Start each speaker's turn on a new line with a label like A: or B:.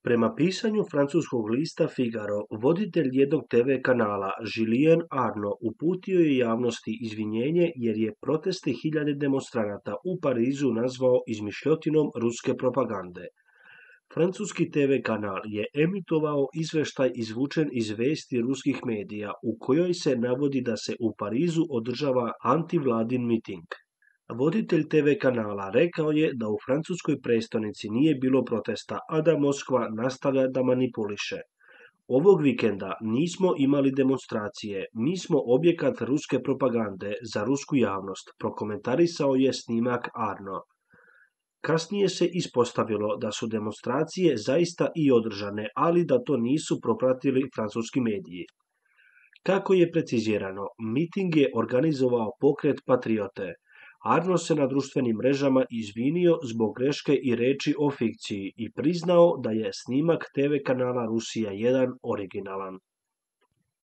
A: Prema pisanju francuskog lista Figaro, voditelj jednog TV kanala Julien Arnaud uputio je javnosti izvinjenje jer je proteste hiljade demonstranata u Parizu nazvao izmišljotinom ruske propagande. Francuski TV kanal je emitovao izveštaj izvučen iz vesti ruskih medija u kojoj se navodi da se u Parizu održava antivladin miting. Voditelj TV kanala rekao je da u francuskoj prestonici nije bilo protesta, a da Moskva nastavlja da manipuliše. Ovog vikenda nismo imali demonstracije, mi smo objekat ruske propagande za rusku javnost, prokomentarisao je snimak Arno. Kasnije se ispostavilo da su demonstracije zaista i održane, ali da to nisu propratili francuski mediji. Kako je precizirano, miting je organizovao pokret Patriote. Arno se na društvenim mrežama izvinio zbog greške i reči o fikciji i priznao da je snimak TV kanala Rusija 1 originalan.